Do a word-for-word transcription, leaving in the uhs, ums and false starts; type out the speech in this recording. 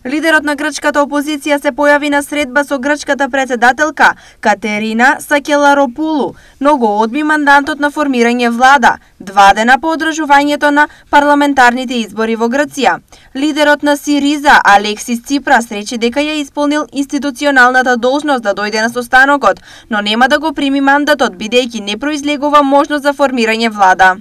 Лидерот на грчката опозиција се појави на средба со грчката председателка Катерина Сакеларопулу, но го одби мандатот на формирање влада, два дена по одржувањето на парламентарните избори во Грција. Лидерот на Сириза Алексис Ципрас рече дека ја исполнил институционалната должност да дојде на состанокот, но нема да го прими мандатот бидејќи не произлегува можност за формирање влада.